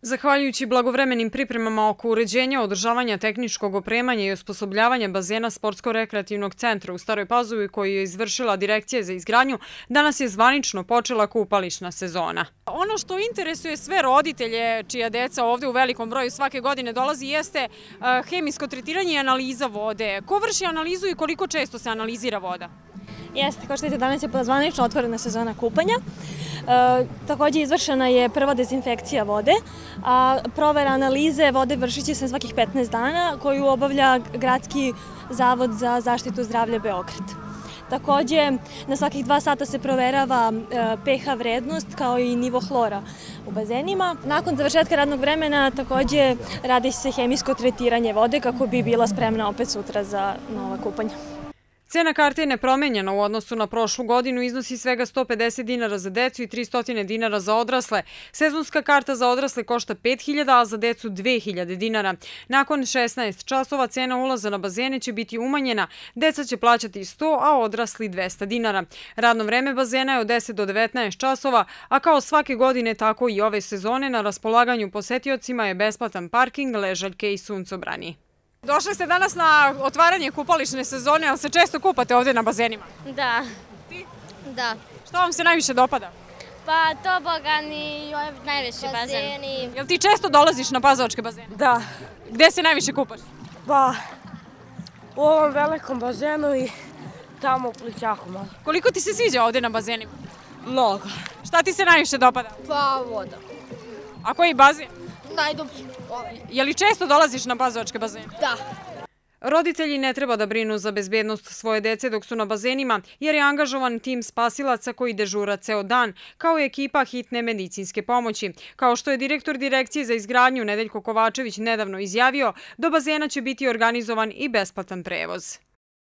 Zahvaljujući blagovremenim pripremama oko uređenja, održavanja tehničkog opremanja i osposobljavanja bazena Sportsko-rekreativnog centra u Staroj Pazovi koju je izvršila Direkcija za izgradnju, danas je zvanično počela kupališna sezona. Ono što interesuje sve roditelje čija deca ovde u velikom broju svake godine dolazi jeste hemijsko tretiranje i analiza vode. Ko vrši analizu i koliko često se analizira voda? Jeste, kao što vidite, danas je zvanično otvorena sezona kupanja. Također izvršena je prva dezinfekcija vode, a provera analize vode vršit će se svakih 15 dana koju obavlja Gradski zavod za zaštitu zdravlja Beograd. Također, na svakih 2 sata se proverava pH vrednost kao i nivo hlora u bazenima. Nakon završetka radnog vremena također radi se hemijsko tretiranje vode kako bi bila spremna opet sutra za nova kupanja. Cena karte je nepromenjena u odnosu na prošlu godinu, iznosi svega 150 dinara za decu i 300 dinara za odrasle. Sezonska karta za odrasle košta 5.000, a za decu 2.000 dinara. Nakon 16 časova cena ulaza na bazene će biti umanjena, deca će plaćati 100, a odrasli 200 dinara. Radno vreme bazena je od 10 do 19 časova, a kao svake godine tako i ove sezone na raspolaganju posetiocima je besplatan parking, ležaljke i suncobrani. Došli ste danas na otvaranje kupališne sezone, ali se često kupate ovdje na bazenima? Da. Ti? Da. Što vam se najviše dopada? Pa tobogan i najveći bazen. Jel ti često dolaziš na pazovačke bazene? Da. Gde se najviše kupaš? Pa u ovom velikom bazenu i tamo u Plićaku malo. Koliko ti se sviđa ovdje na bazenima? Mnogo. Šta ti se najviše dopada? Pa voda. A koji bazen? Najdublji. Je li često dolaziš na pazovačke bazene? Da. Roditelji ne treba da brinu za bezbednost svoje dece dok su na bazenima, jer je angažovan tim spasilaca koji dežura ceo dan, kao i ekipa hitne medicinske pomoći. Kao što je direktor Direkcije za izgradnju Nedeljko Kovačević nedavno izjavio, do bazena će biti organizovan i besplatan prevoz.